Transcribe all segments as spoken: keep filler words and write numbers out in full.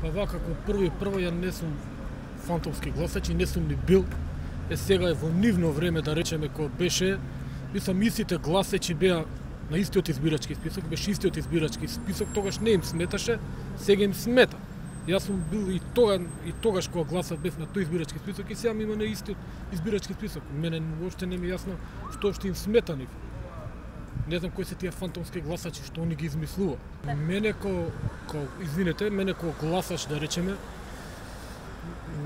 Па вака, како прво и прво, ја не сум фантомски гласач и не сум ни бил. Е, сега е во нивно време, да речеме, кој беше, мислам, истите гласачи беа на истиот избирачки список, беше истиот избирачки список, тогаш не им сметаше, сега им смета. Јас сум бил и тога и тогаш кога гласав бев на тој избирачки список и сега ми има на истиот избирачки список. Мене воопште не ми е јасно што што им смета нив. Не знам кои се тие фантомски гласачи што они ги измислува. Мене ко, ко извинете, мене ко гласач, да речеме,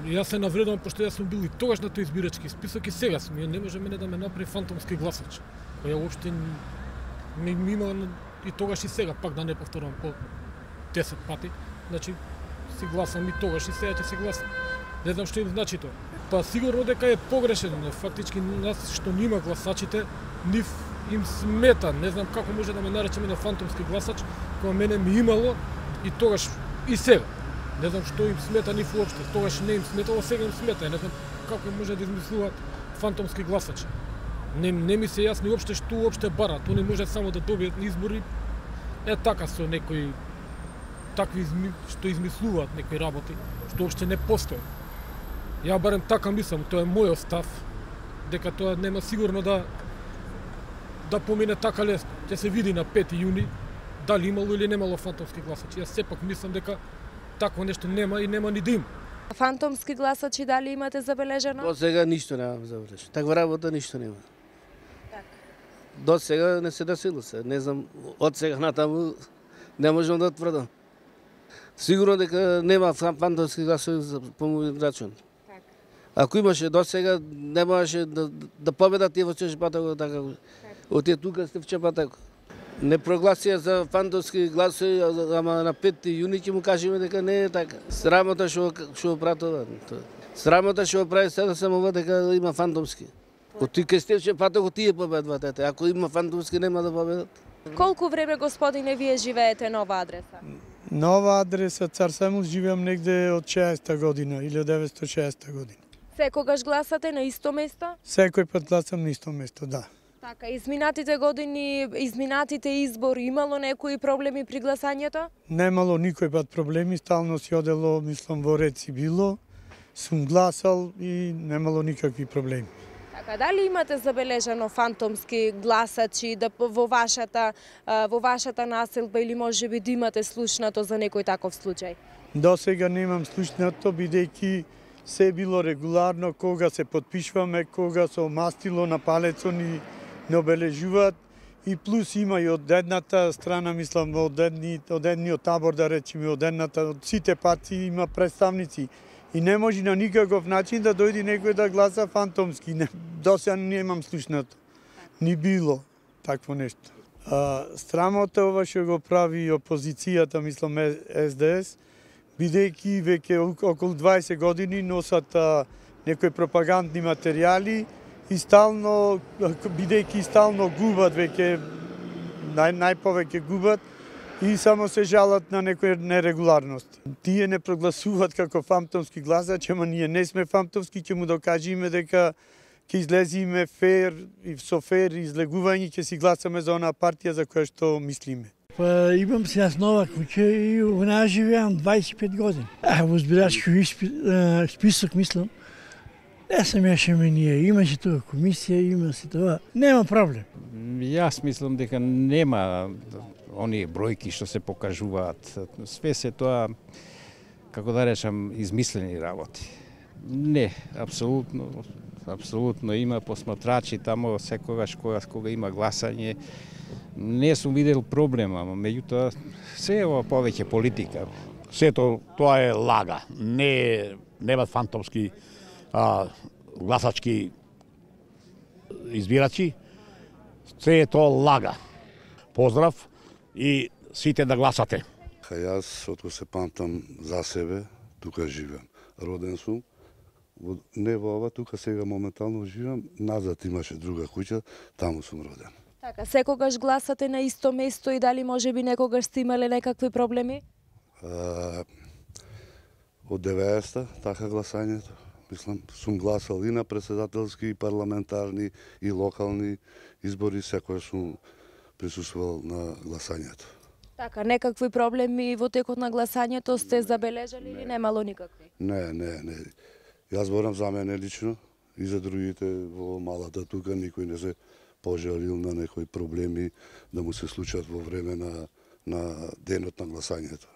јас се навредувам пошто јас сум бил и тогаш на тој избирачки список и сега сум. Не може мене да ме направи фантомски гласач. Кој ја воопште ми, ми има и тогаш и сега, пак да не повторам по десет пати. Значи си гласам и тогаш и сега ќе си гласам. Не знам што им значи тоа. Па сигурно дека е погрешен, фактички нас што нима гласачите, нив им смета. Не знам како може да ме наречеме на фантомски гласач, кога мене ми имало и тогаш и сега. Не знам што им смета нив уопште. Тогаш не им сметало, сега им смета. Не знам како може да измислуваат фантомски гласачи. Не, не ми се јасни уопште што уопште барат. Они може само да добијат избори. Е така со некои такви изми, што измислуваат некои работи, што уопште не постои. Ја барем така мислам, тоа е мојот став, дека тоа нема сигурно да да помине така лесно. Ќе се види на пети јуни дали имало или немало фантомски гласачи. Јас сепак мислам дека такво нешто нема и нема ни да има. Фантомски гласачи дали имате забележено? До сега ништо немам забележено. Таква работа ништо нема. Так. До сега не се десило се. Не знам, од сега натаму не можам да тврдам. Сигурно дека нема фантомски гласови по мој рачун. Так. Ако имаше до сега, не можеше да, да победат и во Чепатако така. Од тие тука сте в Чепатако. Не прогласија за фантомски гласови, ама на пети јуни ќе му кажеме дека не е така. Срамота што што пратува. Срамота што прави сега само дека има фантомски. Од ти кај сте в Чепатако тие победват ете. Ако има фантомски нема да победат. Колку време, господине, вие живеете на ова адреса? Нова адреса Цар Самуил живеам негде од шеесета година, илјада деветстотини и шеесета година. Секогаш гласате на исто место? Секој пат гласам на исто место, да. Така, изминатите години, изминатите избори, имало некои проблеми при гласањето? Немало никој пат проблеми, стално си одело, мислам, во ред си било, сум гласал и немало никакви проблеми. Така, дали имате забележано фантомски гласачи да во вашата во вашата населба или можеби да имате слушнато за некој таков случај? До сега немам слушнато, бидејќи се било регуларно, кога се потпишваме, кога со мастило на палецо ни не обележуваат и плюс има и од едната страна, мислам, од, едни, од едниот табор, да речеме, од едната, од сите партии има представници. И не може на никаков начин да дојде некој да гласа фантомски. Не, до сега немам слушнато. Ни било такво нешто. А, страмота ова што го прави опозицијата, мислам, Ес Де Ес, бидејќи веќе околу дваесет години носат а, некои пропагандни материјали и стално, бидејќи стално губат, веќе нај, најповеќе губат, и само се жалат на некои нерегуларности. Тие не прогласуваат како фантомски гласачи, ама ние не сме фантомски, ќе му докажеме дека ќе излезиме фер и со фер излегување, ќе си гласаме за онаа партија за која што мислиме. Па имам се јас нова куќа и во неа живеам дваесет и пет години. А во избирачки список мислам, не се мешаме ние, имаше тоа комисија, има се тоа, нема проблем. Јас мислам дека нема оние бројки што се покажуваат. Све се тоа, како да речам, измислени работи. Не, апсолутно, апсолутно има посматрачи тамо секогаш кога, кога има гласање. Не сум видел проблема, меѓутоа се е повеќе политика. Сето тоа е лага. Не нема фантомски а, гласачки избирачи. Се е тоа лага. Поздрав и сите да гласате. Јас, откако се памтам за себе, тука живеам. Роден сум, не во ова, тука сега моментално живеам, назад имаше друга куќа, таму сум роден. Така, секогаш гласате на исто место и дали можеби некогаш сте имале некакви проблеми? А, од деветдесета, така гласањето. Мислам, сум гласал и на председателски, и парламентарни, и локални избори, секој сум присуствувал на гласањето. Така, некакви проблеми во текот на гласањето сте забележали или немало никакви? Не, не, не. Јас зборам за мене лично и за другите во малата тука, никој не се пожалил на некои проблеми да му се случат во време на, на денот на гласањето.